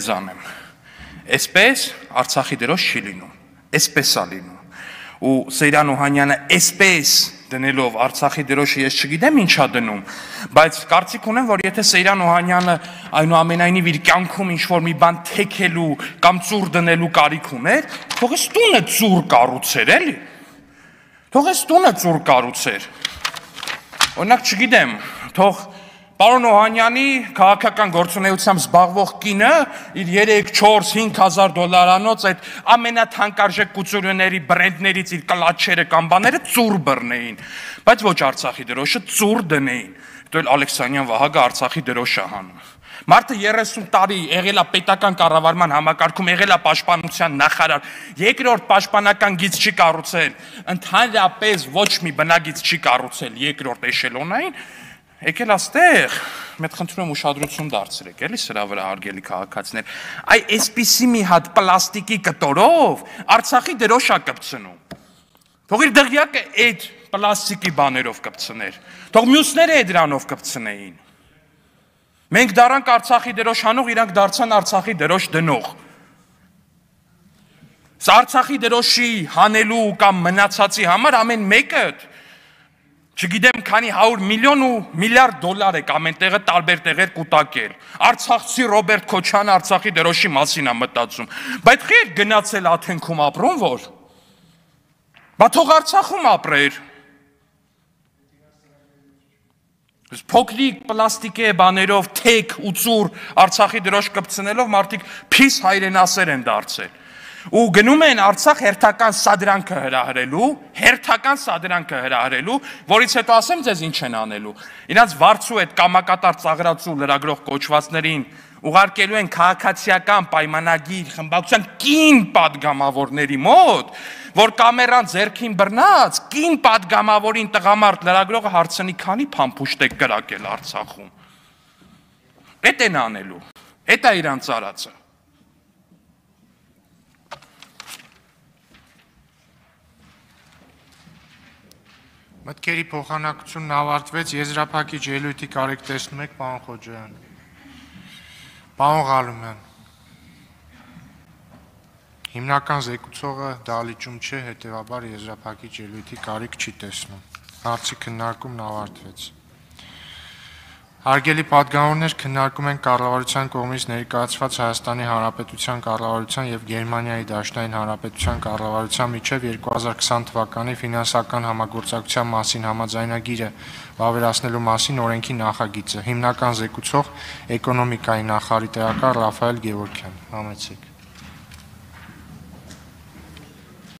կբզանեմ։ Այսպես Արցախի դրոշ չի լինում, այսպես է լինում։ Ու Սեյրան Օհանյանը այսպես դնելով Արցախի դրոշը ես չգիտեմ ինչա դնում, բայց կարծիք ունեմ, որ եթե Սեյրան Օհանյանը այնուամենայնիվ իր կյանքում ինչ-որ մի բան թեքելու կամ ծուռ դնելու կարիք ուներ, թող էս տունը ծուռ կառուցեր, էլի։ Թող էս տունը ծուռ կառուցեր։ Օրինակ չգիտեմ, թող պարոն Օհանյանի քաղաքական գործունեությամբ զբաղվող կինը իր 3-4-5 $5,000 այդ ամենաթանկարժեք կուտուրիաների բրենդներից իր կլաչերը կամ բաները ծուռ բռնեին, բայց ոչ Արցախի դրոշը ծուռ դնեին։ Դա էլ Ալեքսանյան Վահագը Արցախի դրոշ է հանում։ Մարդը 30 տարի եղել է պետական կառավարման համակարգում, եղել է պաշտպանության նախարար, երկրորդ պաշտպանական գիծ չի կառուցել, ընդհանրապես ոչ մի բնագիծ չի կառուցել երկրորդ էշելոնային, եկել աստեղ, մեծ խնդրում եմ ուշադրություն դարձրեք, էլի սրա վրա հարգելի քաղաքացիներ, այ այսպիսի մի հատ պլաստիկի կտորով Արցախի դրոշ է կպցնում։ Թող իր դղյակը այդ պլաստիկի բաներով կպցներ, թող մյուսները այդ դրանով կպցնեին։ Մենք դարանք Արցախի դրոշ հանող, իրանք դարձան Արցախի դրոշ դնող։ Սա Արցախի դրոշի հանելու կամ մնացածի համար ամեն մեկը չգիտեմ քանի 100 միլիոն ու միլիարդ $, եք ամեն տեղը տարբեր տեղեր կուտակել։ Արցախցի Ռոբերտ Քոչյանը Արցախի դրոշի մասին է մտածում, բայց խի գնացել Աթենքում ապրում որ։ Բա թող Արցախում ապրեր։ Փոքրիկ պլաստիկե բաներով թեք ու ծուռ Արցախի դրոշ կպցնելով մարդիկ փիս հայրենասեր են դարձել։ Ու գնում են Արցախ հերթական սադրանքը հրահրելու, որից հետո ասեմ ձեզ ինչ են անելու։ Իրանց վարձու այդ կամակատար ծաղրացու լրագրող կոչվածներին ուղարկելու են քաղաքացիական պայմանագիր խմբակցության կին պատգամավորների մոտ, որ կամերան ձեռքին բռնած, կին պատգամավորին տղամարդ լրագրողը հարցնի քանի փամփուշտ եք կրակել Արցախում։ Էդ են անելու, էդ է իրանց արածը։ Մտքերի փոխանակությունն ավարտվեց, եզրափակիչ ելույթի կարիք տեսնում եք, պարոն Խոջոյան։ Պարոն Ղալումյան։ Հիմնական զեկուցողը դալիճում չէ, հետևաբար եզրափակիչ ելույթի կարիք չի տեսնում։ Հարցի քննարկումն ավարտվեց։ Հարգելի պատգամավորներ, քննարկում են կառավարության կողմից ներկայացված Հայաստանի Հանրապետության կառավարության եւ Գերմանիայի Դաշնային Հանրապետության կառավարության միջև 2020 թվականի ֆինանսական համագործակցության մասին համաձայնագիրը վավերացնելու մասին օրենքի նախագիծը։ Հիմնական զեկուցող էկոնոմիկայի նախարարի տեղակալ Ռաֆայել Գևորգյան։ Համեցեք։